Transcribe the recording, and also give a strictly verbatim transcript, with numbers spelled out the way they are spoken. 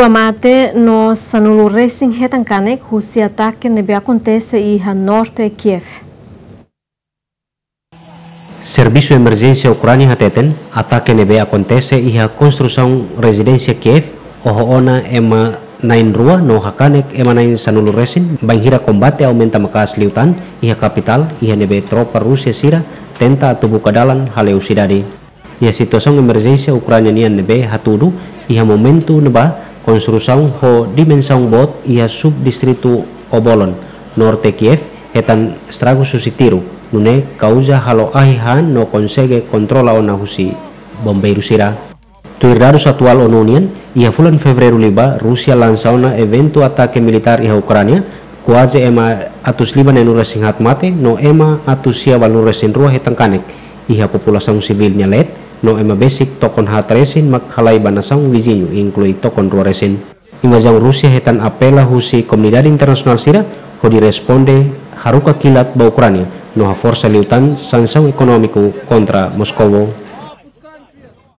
Mate no sanulu resin hetan kanek husi atake ne'ebé akontese iha norte Kiev. Servisu Emerjénsia Ukránia hateten, atake ne'ebé akontese iha konstrusaun rezidénsia Kiev, oho ona ema na'in rua no hakanek ema na'in sanulu resin, bainhira kombate aumenta maka'as liután iha kapitál, iha ne'ebé tropa Rúsia sira tenta atu buka dalan haleu sidade. Iha situasaun emerjénsia Ukránia nian ne'ebé hatudu, iha momentu ne'ebá konstrusaun ho dimensaun boot iha subdistritu Obolon, norte Kiev, hetan estragus husi tiru, nune'e kauza halo ahi han no konsege kontrola ona husi bombeiru sira. Tuir dadus atuál ONU nian, iha fulan Fevereiru liubá, Rúsia lansa ona eventu atake militár iha Ukránia, kuaze ema atus lima neenulu resin haat mate, no ema atus sia ualunulu resin rua hetan kanek, iha populasaun sivíl nia leet, no ema besik tokon haat resin mak halai ba nasaun viziñu, inklui tokon rua resin. Invazaun Rúsia hetan apela husi komunidade internasionál sira hodi responde haruka kilat ba Ukránia, no haforsa liután sansaun ekonómiku kontra Moskovu.